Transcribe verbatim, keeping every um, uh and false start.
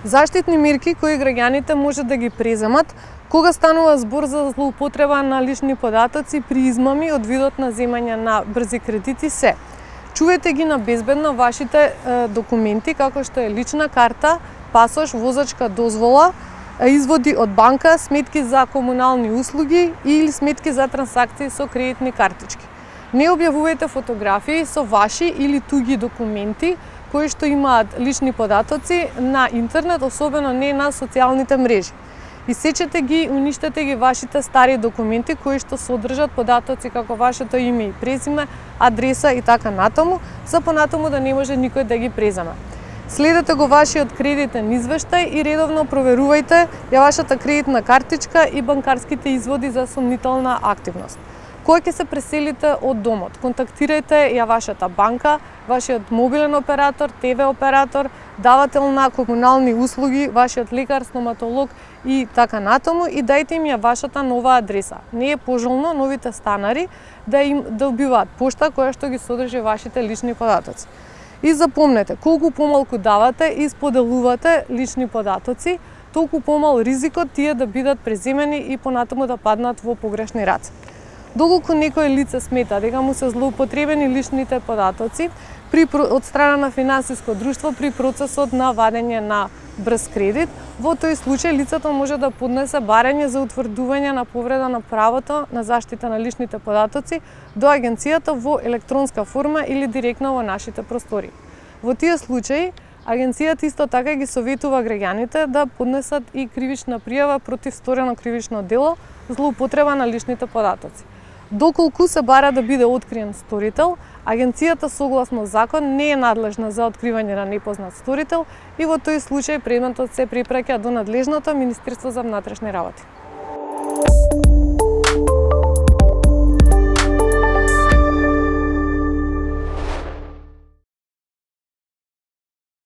Заштитни мерки кои граѓаните може да ги преземат кога станува збор за злоупотреба на лични податоци при измами од видот на земање на брзи кредити се: чувајте ги на безбедно вашите е, документи како што е лична карта, пасош, возачка дозвола, изводи од банка, сметки за комунални услуги или сметки за трансакции со кредитни картички. Не објавувајте фотографии со ваши или туги документи кои што имаат лични податоци на интернет, особено не на социјалните мрежи. Исечете ги, уништете ги вашите стари документи кои што содржат податоци како вашето име и презиме, адреса и така натаму, за понатаму да не може никој да ги преземе. Следете го вашиот кредитен извештај и редовно проверувајте ја вашата кредитна картичка и банкарските изводи за сомнителна активност. Кога ќе се преселите од домот, контактирајте ја вашата банка, вашиот мобилен оператор, те ве оператор, давател на комунални услуги, вашиот лекар, стоматолог и така натаму и дајте им ја вашата нова адреса. Не е пожелно новите станари да им добиваат пошта која што ги содржи вашите лични податоци. И запомнете, колку помалку давате и споделувате лични податоци, толку помал ризикот тие да бидат преземени и понатаму да паднат во погрешни раце. Доколку некој лице смета дека му се злоупотребени личните податоци при, од страна на финансиско друштво при процесот на вадење на брз кредит, во тој случај лицето може да поднесе барање за утврдување на повреда на правото на заштита на личните податоци до агенцијата во електронска форма или директно во нашите простори. Во тие случаи, агенцијата исто така ги советува граѓаните да поднесат и кривична пријава против сторено кривично дело злоупотреба на личните податоци. Доколку се бара да биде откриен сторител, агенцијата согласно закон не е надлежна за откривање на непознат сторител и во тој случај предметот се препраќа до надлежното Министерство за внатрешни работи.